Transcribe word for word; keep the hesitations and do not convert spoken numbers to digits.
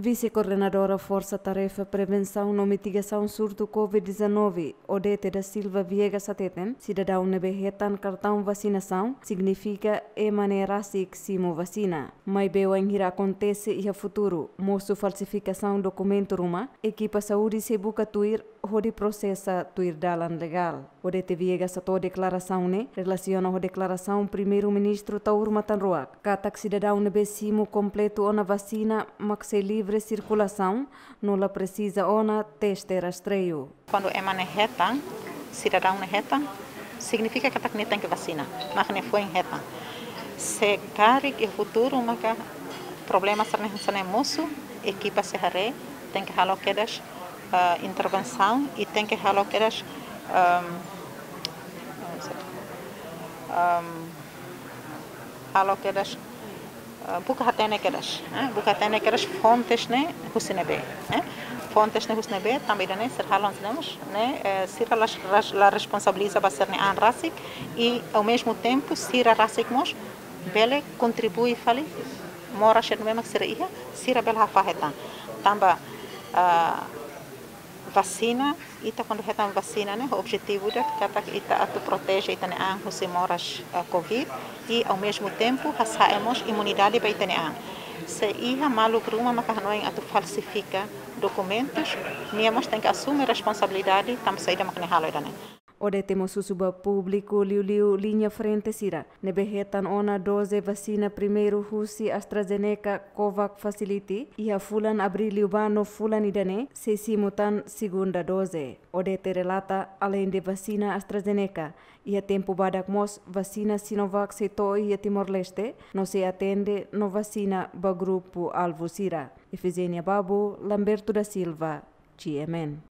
Vise-Koordenadora Forsa Tarefa Prevensaun no Mitigasaun Surtu COVID-19, Odete da Silva Viegas hateten, sidadaun ne'ebé hetan kartaun vasinasaun signifika ema ne'e rasik simu vasina. Maibé wainhira akontese iha futuru mosu falsifikasaun dokumentu ruma, ekipa saúde sei buka tuir hodi prosesa tuir dalan legál. Odete Viegas hato'o deklarasaun ne'e relasiona ho deklarasaun Primeiru-Ministru Taur Matan Ruak, katak sidadaun ne'ebé simu kompletu ona vasina mak sei livre sirkulasaun no la presiza ona teste rastreiu. Kuandu ema ne'e hetan, sidadaun ne'e hetan, signifika katak nia tenke vasina, mak ne'e foin hetan. Se karik iha futuru maka problema sira-ne'e hanesan ne'e mosu, ekipa sei haree, tenke halo kedas, ah, intervensaun i tenke halo kedas, ehm, ehm, halo kedas, eh, buka hatene kedas, eh, buka hatene kedas fontes ne'e husi ne'ebé, eh. Fontes ne'e husi ne'ebé, tanba ida-ne'e sira halo hanesan ne'e mós, ne'e, eh, sira la, la, la responsabiliza ba sira-nia an rasik i, ao mesmo tempo, sira rasik mós bele kontribui fali moras sira ne'ebé mak sira iha, sira bele hafahe tan. Tanba, ah, vasina, ita kuandu hetan vasina ne'e, objetivu ida katak ita atu proteje ita-nia an husi moras, eh, COVID, i ao mesmo tempo hasa'e mós imunidade ba ita-nia an. Se iha maluk ruma maka hanoin atu falsifika dokumentus, nia mós tenke asume responsabilidade, tanba saida mak nia halo ida-ne'e. Odete mós husu ba públiku liuliu liña frente sira ne'ebé hetan ona doze vasina primeiru husi AstraZeneca Covax Facility iha fulan Abríl liubá no fulan ida-ne'e sei simu tan segunda doze. Odete relata, aleinde vasina AstraZeneca, iha tempu badak mós vasina Sinovac sei to'o iha Timor-Leste, no sei atende no vasina ba grupu alvu sira. Efigénia Babo, Lamberto da Silva, GMN.